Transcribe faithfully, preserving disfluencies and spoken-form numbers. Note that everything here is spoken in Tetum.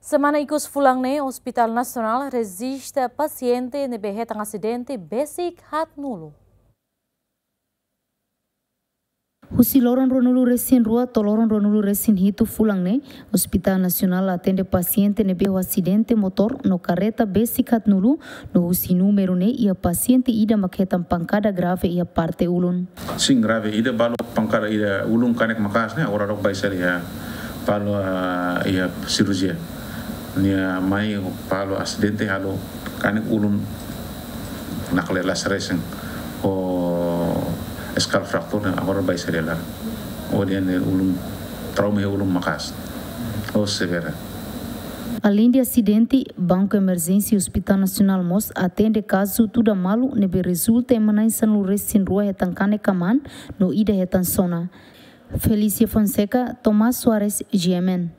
Semana ikus fulan ne'e, Hospital Nasionál rejista pasiente ne'ebé hetan asidente besik haat-nulu. Husi loron ruanulu-resin-rua to'o loron ruanulu-resin-hitu fulan ne'e, Hospital Nasionál atende pasiente ne'ebé ho asidente motór no karreta besik haat-nulu, no husi númeru ne'e iha pasiente ida mak hetan pankada grave iha parte ulun. Sin, grave ida, balu pankada iha ulun kanek maka'as ne'e, agora daudauk bá sira iha, balu, ah, iha sirurjia. Nia mai balu asidente halo kanek ulun nakle las resen. Ho skullfracture ne'e, agora bá sira iha laran. Ho nia ulun, trauma iha ulun maka'as. Ho severa. Aleinde asidente, Banku Emerjénsia Hospital Nasionál mós atende kazu tuda malu ne'ebé rezulta ema na'in sanulu-resin-rua hetan kanek kamaan, no ida hetan sona. Felícia Fonseca, Tomás Soares, G M N.